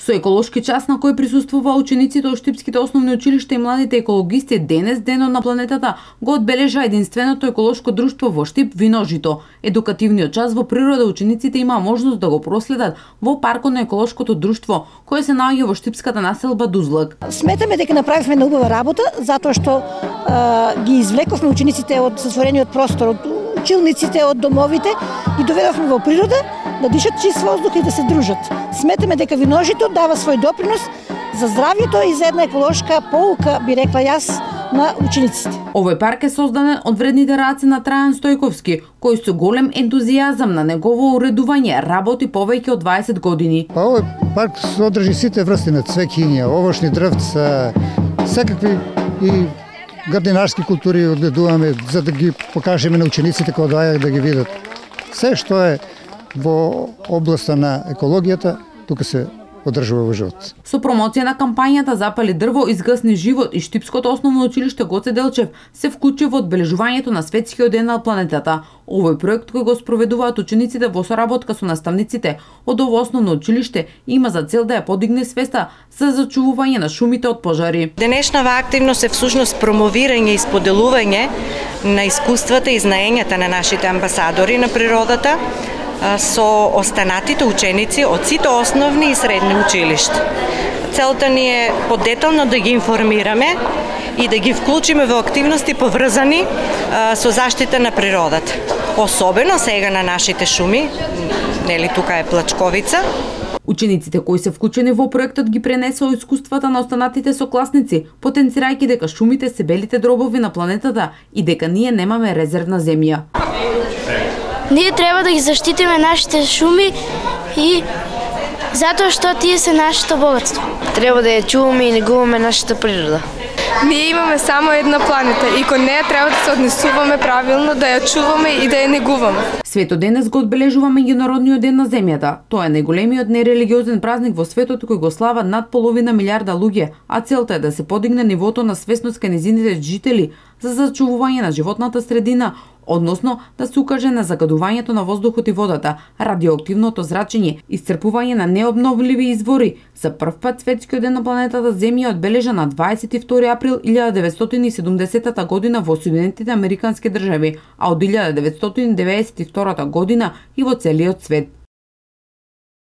Со еколошки час на кој присуствува учениците од Штипските основни училишта и младите екологисти, денес, денот на планетата, го одбележа единственото еколошко друштво во Штип Виножито. Едукативниот час во природа учениците имаа можност да го проследат во паркот на еколошкото друштво, кое се наоѓа во штипската населба Дузлак. Сметаме дека направивме една убава работа, затоа што ги извлековме учениците од затворениот простор, од училниците, од домовите и доведовме во природа да дишат чист воздух и да се дружат. Сметаме дека Виножито дава свој допринос за здравјето и за една еколошка поука, би рекла јас, на учениците. Овој парк е создаден од вредните раци на Трајан Стојковски, кој со голем ентузијазам на негово уредување работи повеќе од 20 години. Овој парк содржи сите врсти на цвеќиња, овошни дрвца, секакви и градинарски култури одгледуваме за да ги покажеме на учениците кога доаѓаат да ги видат. Се што е во областа на екологијата, тука се одржува во живот. Со промоција на кампањата Запали дрво, изгасни живот и Штипското основно училиште Гоце Делчев се вклучи во одбележувањето на Светскиот ден на планетата. Овој проект кој го спроведуваат учениците во соработка со наставниците од ово основно училиште има за цел да ја подигне свеста за зачувување на шумите од пожари. Денешнава активност е всушност промовирање и споделување на искуствата и знаењата на нашите амбасадори на природата со останатите ученици од сите основни и средни училишта. Целта ни е подетално да ги информираме и да ги вклучиме во активности поврзани со заштита на природата. Особено сега на нашите шуми, нели тука е Плачковица. Учениците кои се вклучени во проектот ги пренесоа искуствата на останатите сокласници, потенцирајќи дека шумите се белите дробови на планетата и дека ние немаме резервна земја. Ние треба да ги заштитиме нашите шуми и затоа што тие се нашето богатство. Треба да ја чуваме и негуваме нашата природа. Ние имаме само една планета и кон неја треба да се однесуваме правилно, да ја чуваме и да ја негуваме. Свето денес го одбележува меѓународниот ден на земјата. Тоа е најголемиот нерелигиозен празник во светот кој го слава над половина милиарда луѓе, а целта е да се подигне нивото на свесност кај нејзините жители за зачувување на животната средина, односно да се укаже на загадувањето на воздухот и водата, радиоактивното зрачење, исцрпување на необновливи извори. За прв пат Светскиот ден на планетата Земја одбележа на 22 април 1970 година во Соединетите Американски држави, а од 1992 година и во целиот свет.